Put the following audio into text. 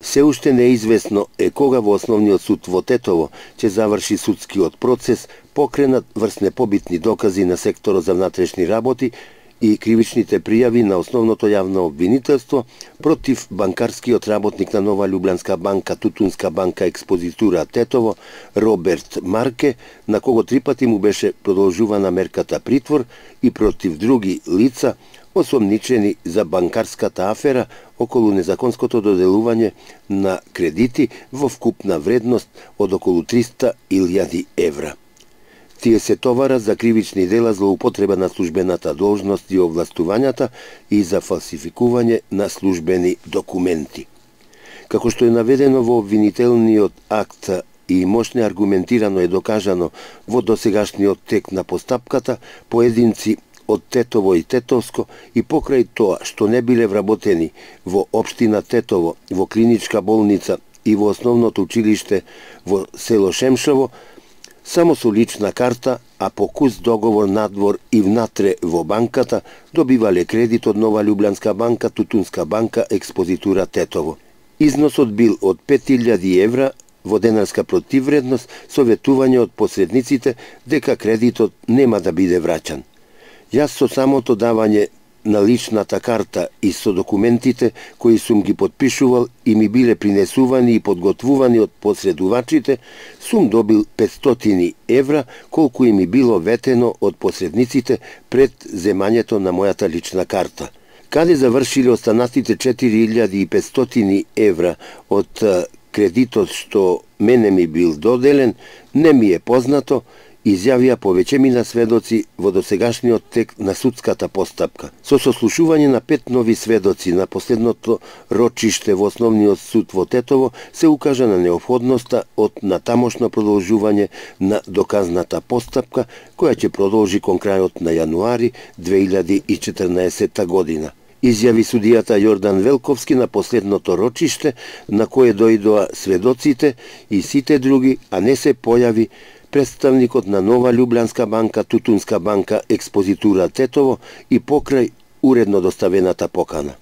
Се уште неизвестно е кога во Основниот суд во Тетово ќе заврши судскиот процес покренат врз непобитни докази на секторот за внатрешни работи и кривичните пријави на основното јавно обвинителство против банкарскиот работник на Нова Љубљанска банка, Тутунска банка експозитура Тетово, Роберт Марке, на кого 3 пати му беше продолжувана мерката притвор, и против други лица осомничени за банкарската афера околу незаконското доделување на кредити во вкупна вредност од околу 300.000 евра. Тие се товарат за кривични дела злоупотреба на службената должност и овластувањата и за фалсификување на службени документи. Како што е наведено во обвинителниот акт и мощно аргументирано е докажано во досегашниот тек на постапката, поединци од Тетово и Тетовско и покрај тоа што не биле вработени во општина Тетово, во клиничка болница и во основното училиште во село Шемшово, само со лична карта, а по кус договор надвор и внатре во банката, добивале кредит од Нова Љубљанска банка, Тутунска банка, експозитура Тетово. Износот бил од 5.000 евра во денарска противвредност, со ветување од посредниците дека кредитот нема да биде враќан. Јас со самото давање на личната карта и со документите кои сум ги подпишувал и ми биле принесувани и подготвувани од посредувачите, сум добил 500 евра, колку и ми било ветено од посредниците пред земањето на мојата лична карта. Каде завршиле останатите 4.500 евра од кредитот што мене ми бил доделен, не ми е познато, изјавија повеќемина сведоци во досегашниот тек на судската постапка. Со сослушување на 5 нови сведоци на последното рочиште во Основниот суд во Тетово се укажа на неопходноста од натамошно продолжување на доказната постапка, која ќе продолжи кон крајот на јануари 2014 година. Изјави судијата Јордан Велковски на последното рочиште, на кое дојдоа сведоците и сите други, а не се појави представникот на Нова Љубљанска банка, Тутунска банка, експозитура Тетово и покрај уредно доставената покана.